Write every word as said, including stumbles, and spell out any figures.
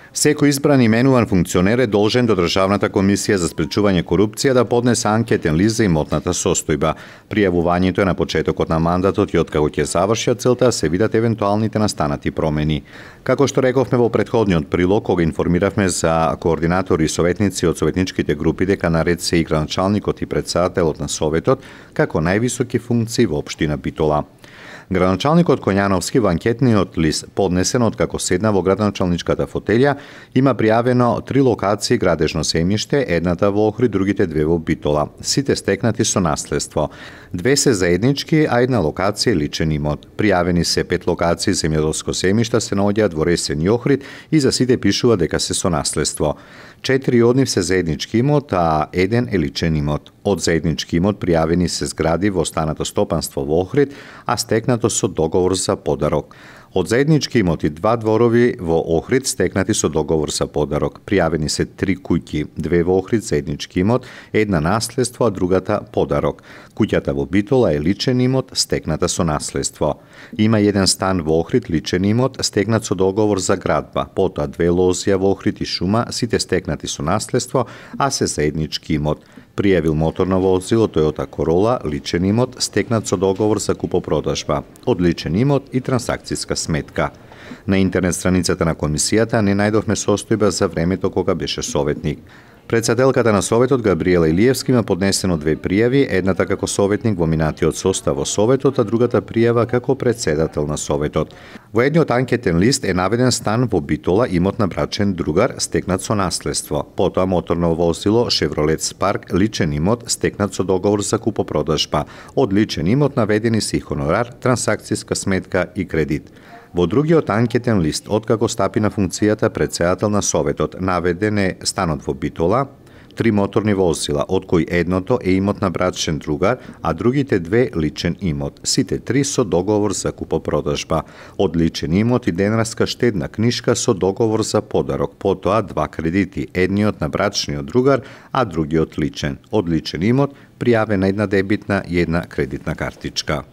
Секој избран именуван функционер е должен до Државната комисија за спречување корупција да поднесе анкетен лист за имотната состојба. Пријавувањето е на почетокот на мандатот и откако ќе заврши целта се видат евентуалните настанати промени. Како што рековме во претходниот прилог, кога информиравме за координатори и советници од советничките групи дека наред се и градоначалникот и претседателот на советот како највисоки функции во општина Битола. Градоначалникот Коњановски во анкетниот лист, поднесен откако седна во градоначалничката фотелја, има пријавено три локации градежно земјиште, едната во Охрид, другите две во Битола. Сите стекнати со наследство. Две се заеднички, а една локација е личен имот. Пријавени се пет локации земјоделско земјишта се наоѓаат во Ресен и Охрид и за сите пишува дека се со наследство. Четири од нив се заеднички имот, а еден е личен имот. Од заеднички имот пријавени се згради во останато стопанство во Охрид, а стекнато со договор за подарок. Од заеднички имоти два дворови во Охрид стекнати со договор за подарок. Пријавени се три куќи, две во Охрид заеднички имот, една наследство, а другата подарок. Куќата во Битола е личен имот, стекната со наследство. Има еден стан во Охрид, личен имот, стекнат со договор за градба. Потоа две лозија во Охрид и шума, сите стекнати со наследство, а се заеднички имот. Пријавил моторно возило Toyota Corolla, личен имот, стекнат со договор за купопродажба, од личен имот и трансакцијска сметка. На интернет страницата на комисијата не најдовме состојба за времето кога беше советник. Председателката на советот Габриела Илиевски има поднесено две пријави, едната како советник во минатиот состав во советот, а другата пријава како председател на советот. Во едниот анкетен лист е наведен стан во Битола, имот на брачен другар, стекнат со наследство. Потоа моторно возило Chevrolet Spark, личен имот, стекнат со договор за купопродажба. Од личен имот наведени се и хонорар, трансакцијска сметка и кредит. Во другиот анкетен лист, откако стапи на функцијата председател на советот, наведен е станот во Битола, три моторни возила, од кои едното е имот на брачен другар, а другите две личен имот. Сите три со договор за купопродажба. Од личен имот и денарска штедна книшка со договор за подарок. Потоа два кредити, едниот на брачниот другар, а другиот личен. Од личен имот пријавена една дебитна и една кредитна картичка.